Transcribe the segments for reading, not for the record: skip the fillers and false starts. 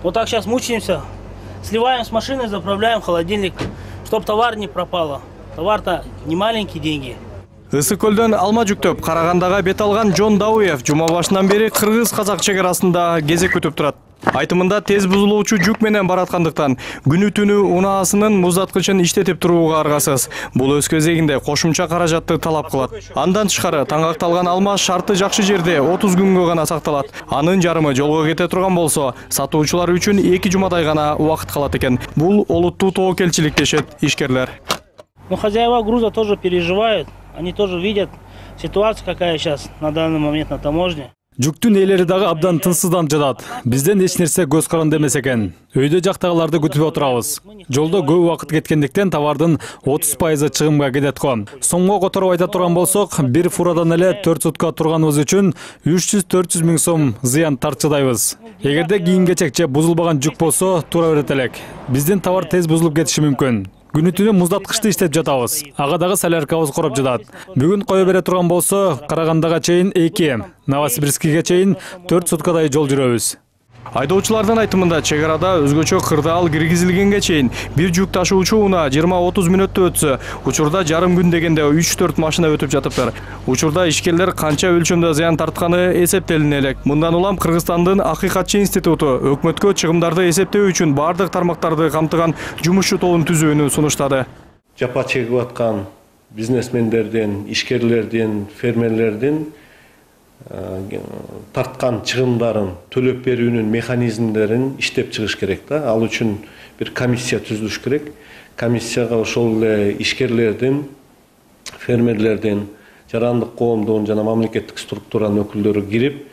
Вот так сейчас мучаемся, сливаем с машины, заправляем в холодильник, чтоб товар не пропало. Товар-то не маленькие деньги. Ысык көлдөн алма жүктөп Карагандага бет алган Жон Дауев жума башынан бери кыргыз-казак чек арасында кезек күтүп турат. Айтымында тез бузулуучу жүк менен бараткандыктан күнү-түнү унаасынын муздаткычын иштетип турууга аргасыз. Бул өз кезегинде кошумча каражатты талап кылат. Андан тышкары таңакталган алма шарты жакшы жерде 30 күнгө гана сакталат. Анын жарымы жолго кете турган болсо, сатуучулар үчүн 2 жумадай гана убакыт калат экен. Бул олуттуу тобокелчилик дешет ишкерлер. Но хозяева груза тоже переживают. Они тоже видят ситуацию, какая сейчас на данный момент на таможне. Жүктүн ээлери дагы абдан тынчсызданып жатат. Бизден эч нерсе көз каранды эмес экен. Өйдө жактагыларды күтүп отурабыз. Жолдо көп убакыт кеткендиктен товардын 30% чыгымга кетет го. Сомго которуп айта турган болсок, бир фурадан эле 4 сутка турганыбыз үчүн 300-400 миң сом зыян тартчыдайбыз. Эгерде кийин-кечек же бузулбаган жүк болсо, тура берет элек. Биздин товар тез бузулуп кетиши мүмкүн. Күнү-түнү муздаткычты иштеп жатабыз. Ага дагы соляркабыз короп жатат. Бүгүн кое бере турган болсо, Карагандага чейин 2, Новосибирскиге чейин 4 суткадай жол жүрөбүз. Айдоочулардын айтымында чек арада өзгөчө кырдаал киргизилгенге чейин бир жүк ташуучу унаа 20-30 мүнөттө өтсө, учурда жарым күн дегенде 3-4 машина өтүп жатыптыр. Учурда ишкерлер канча өлчөмдө зыян тартканы эсептелине элек. Мындан улам Кыргызстандын Акыйкатчы институту өкмөткө чыгымдарды эсептөө үчүн бардык тармактарды камтыган жумушчу тобун түзүүнү сунуштады. Жапа чегип аткан бизнесмендердин, ишкерлердин, фермерлердин тарткан чыгымдарын төлөп берүүнүн механизмдерин иштеп чыгыш керек да. Ал үчүн бир комиссия түзүлүш керек. Комиссияга ошол эле ишкерлердин, фермерлердин, жарандык коомдун жана мамлекеттик структуранын өкүлдөрү кирип,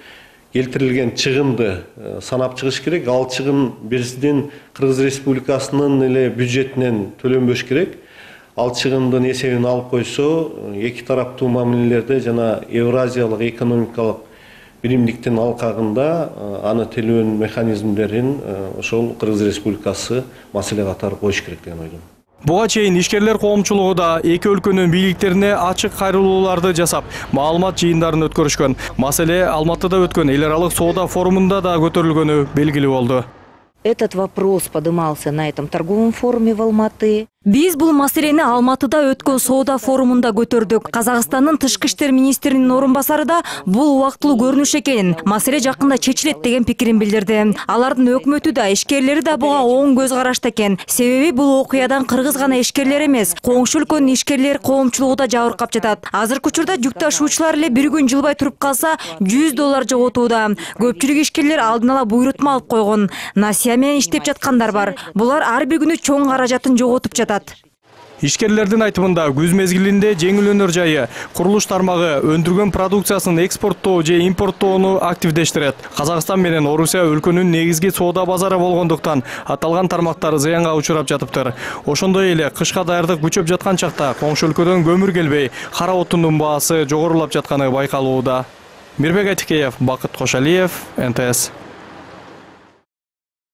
келтирилген чыгымды санап чыгыш керек. Ал чыгым биздин Кыргыз Республикасынын эле бюджетинен төлөнбөш керек. Ал чыгымдын эсебин алып койсо, эки тараптуу мамилелерде жана Евразиялык экономикалык биримдиктин алкагында аны төлөөнүн механизмдерин ошол Кыргыз Республикасы маселе катары коюш керек деген ойдомун. Буга чейин ишкерлер коомчулугу да эки өлкөнүн бийликтерине ачык кайрылууларды жасап, маалымат жыйындарын өткөрүшкөн. Маселе Алматыда өткөн эл аралык соода форумунда да көтөрүлгөнү белгилүү болду. Этот вопрос поднимался на этом торговом форуме в Алматы. Биз бул маселени Алматыда өткөн соода форумунда көтөрдүк. Казакстандын тышкы иштер министринин орун басары да бул убактылуу көрүнүш экенин, маселе жакында чечилет деген пикирин билдирди. Алардын өкмөтү да, ишкерлери да буга оң көз карашта экен. Себеби бул окуядан кыргыз гана ишкерлер эмес, коңшу өлкөнүн ишкерлер коомчулугу да жабыркап жатат. Азыркы учурда жүк ташуучулар эле бир күн жылбай туруп калса $100 жоготууда. Көпчүлүк ишкерлер алдын ала буйрутма алып койгон. Насия менен иштеп жаткандар бар. Булар ар бир күнү чоң каражатын жоготуп жатат. Ишкерлердин айтымында күз мезгилинде жеңилөнөр жайы курулуш тармагы өндүргөн продукциясын экспорттоо же импорттоону активдештирет. Казакстан менен Орусия өлкөнүн негизги соода базары болгондуктан аталган тармактар зыянга учурап жатыптыр. Ошондой эле кышка даярдык күчөп жаткан чакта коңшу өлкөдөн көмүр келбей, кара отундун баасы жогорулап жатканы байкалууда. Мирбек Айтикеев, Бакыт Кошалиев, НТС.